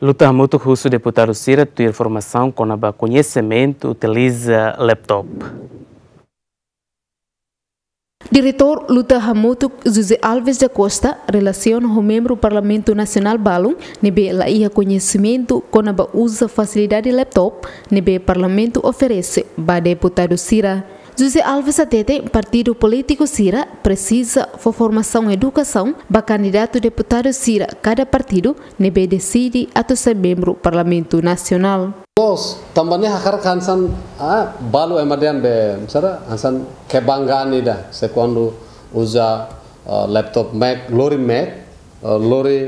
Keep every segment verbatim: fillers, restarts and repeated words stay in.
Luta hamutuk husu deputadu sira tuir formasaun kona-ba koñesimentu utiliza laptop. Diretór Luta Hamutuk José Alves da Costa relasiona ho membru Parlamentu Nasionál balun ne'ebé la iha koñesimentu kona-ba uza fasilidade laptop ne'ebé Parlamentu oferese ba deputadu sira. José Alves hateten partidu polítiku sira presiza fó formasaun edukasaun ba kandidatu deputadu sira kada partidu ne'ebé deside atu sai membru Parlamentu Nasionál. Loos, tanba ne'e hakarak hanesan, ah, balu ema dehan be, misalnya, hanesan kebanggaan ida, se kuandu uza, eh, laptop Mac, lori Mac, eh, lori,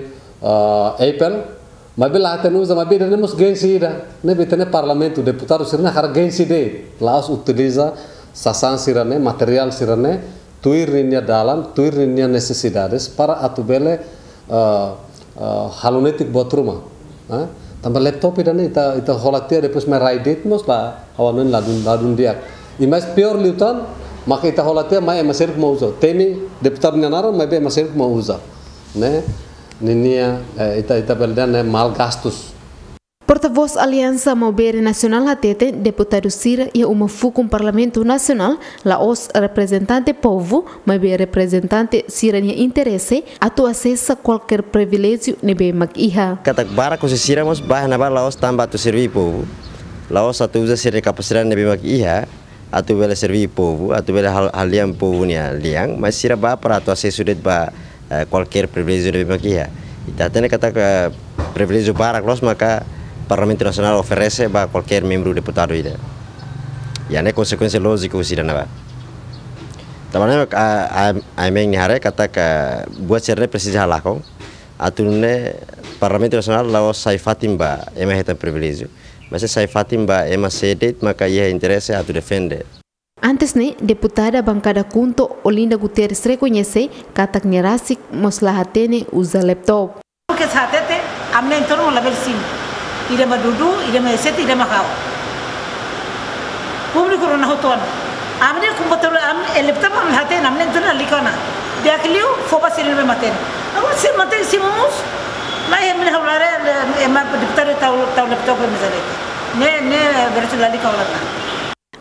eh, Apple, maibé la hatene uza, maibé ida-ne'e mós gengsi ida, ne'ebé ita-nia Parlamentu, deputadu sira-ne'e hakarak gengsi de'it, la'ós utiliza sasán sira-ne'e, materiál sira-ne'e, tuir ninia dalan, tuir ninia nesesidades, para atu bele, eh, eh, halo netik buat ruma. Eh? Tanba laptop ida-ne'e ita, ita hola tiha depois mai rai de'it mós la, ha'u hanoin ladún, ladún di'ak. I mais piór liután, maka ita hola tiha mai ema seluk mak uza. Temi deputadu nia naran, maibé ema seluk mak uza. Ne'e, ninia, eh, ita, ita bele dehan ne'e mal gastus. Portavós Aliansa Maubere Nasionál hateten deputadu sira iha uma fukun Parlamentu Nasionál la'ós reprezentante povu, maibé reprezentante sira-nia interese atu asesa kualkér priviléjiu ne'ebé mak iha. Katak barak husi sira mós bá iha ne'ebá la'ós tanba atu serví povu, la'ós atu uza sira-nia kapasidade ne'ebé mak iha atu bele serví povu, atu bele hal-, halean povu nia lian, mas sira bá para atu asesu de'it ba, eh, kualkér priviléjiu ne'ebé mak iha. Ita hatene katak priviléjiu barak loos maka Parlamentu Nasionál oferese ba kualkér membru deputadu ida. Ida-ne'e konsekuénsia lójiku husi ida-ne'ebá. Tanba ne'e, a, a, ami-nia haree katak buat sira-ne'e presiza halakon. Atu nune'e Parlamentu Nasionál la'ós sai fatin ba ema hetan priviléjiu, mas sai fatin ba ema sé de'it maka iha interese atu defende. Antes ne'e, deputada bankada KHUNTO Olinda Guterres rekoñese katak nia rasik mós la hatene uza laptop. Ke sa tete, ami-nia entornu labele simu. Ida mak Dudu, ida mak Eseti, ida mak ha'u. Públiku rona hotu ona. Ami-nia komputadór, ami laptop ami la hatene, ami-nia entornu lalika ona. Di'ak liu, fó ba sira ne'ebé mak hatene. Agora sira mak hatene simu mós. Lai ami-nia ha'u lare, ema deputadu tau, tau laptop ema sira. Ne'e, ne'e, berarti lalika ona.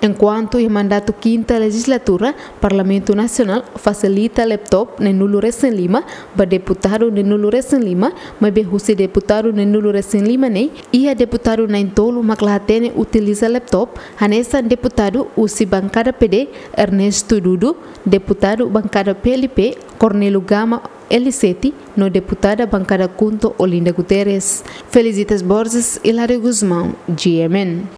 Enkuantu iha mandatu kinta lejizlatura, Parlamentu Nasionál fasilita laptop neen-nulu resin lima ba deputadu neen-nulu resin lima, maibé husi deputadu neen-nulu resin lima ne'e, iha deputadu na'in-tolu mak la hatene utiliza laptop, hanesan deputadu husi bankada PD, Ernesto Dudu, deputadu bankada PLP, Cornélio Gama, L sete, no deputada bankada KHUNTO Olinda Guterres. Felicitas Borges, Hilário Gusmão, G M N.